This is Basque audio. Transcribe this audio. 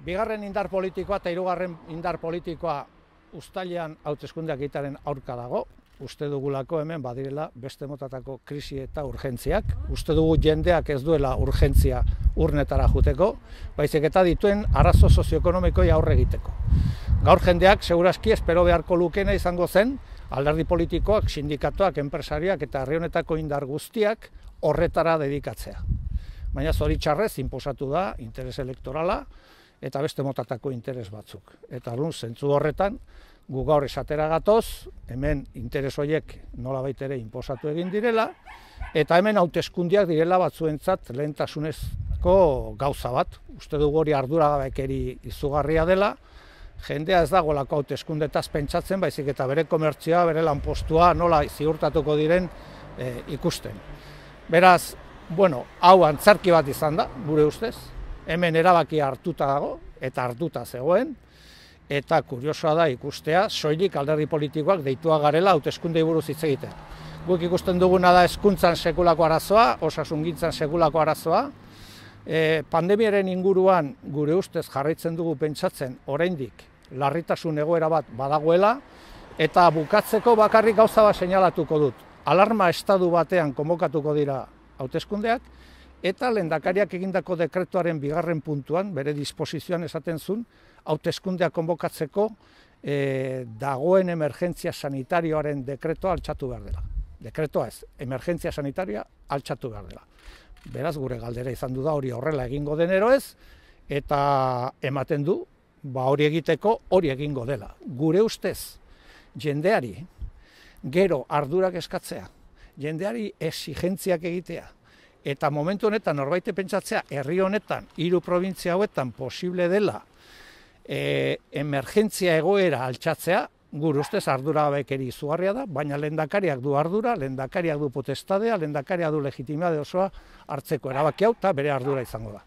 Bigarren indar politikoa eta hirugarren indar politikoa uztailean hauteskundeak egitearen aurka dago. Uste dugulako hemen badirela beste motatako krisi eta urgentziak. Uste dugu jendeak ez duela urgentzia urnetara juteko, baizik eta dituen arazo sozioekonomikoi aurre egiteko. Gaur jendeak segurazki espero beharko lukena izango zen alderdi politikoak, sindikatuak, enpresariak eta herri honetako indar guztiak horretara dedikatzea. Baina zoritxarrez inposatu da interes elektorala eta beste motatako interes batzuk. Eta zentzu horretan, gu gaur esatera gatoz, hemen interes horiek nolabait ere inposatu egin direla, eta hemen hauteskundeak direla batzuentzat lehentasunezko gauza bat. Uste dugu hori arduragabekeri izugarria dela, jendea ez dagoelako hauteskundetaz pentsatzen, baizik eta bere komertzioa, bere lanpostua nola ziurtatuko diren ikusten. Beraz, hau antzarki bat izan da, gure ustez, hemen erabakia hartuta dago, eta hartuta zegoen, eta kuriosoa da ikustea, soilik alderdi politikoak deitua garela hauteskundei buruz hitz egiten. Guk ikusten duguna da hezkuntzan sekulako arazoa, osasungintzan sekulako arazoa. Pandemiaren inguruan gure ustez jarraitzen dugu pentsatzen oraindik larritasun egoera bat badagoela, eta bukatzeko bakarrik gauza bat seinalatuko dut. Alarma estadu batean konbokatuko dira hauteskundeak, eta lehendakariak egindako dekretuaren bigarren puntuan, bere disposizioan esaten zuen, hauteskundeak konbokatzeko dagoen emergentzia sanitarioaren dekretua altxatu behar dela. Dekretua ez, emergentzia sanitarioa altxatu behar dela. Beraz, gure galdera izan du da hori horrela egingo denero ez, eta ematen du, hori egiteko hori egingo dela. Gure ustez, jendeari gero ardurak eskatzea, jendeari exigentziak egitea, eta momentu honetan norbait pentsatzea herri honetan, 3 probintzia hauetan posible dela emergentzia egoera altxatzea, gure ustez arduragabekeri izugarria da, baina lehendakariak du ardura, lehendakariak du potestadea, lehendakariak du legitimade osoa hartzeko erabaki hau eta bere ardura izango da.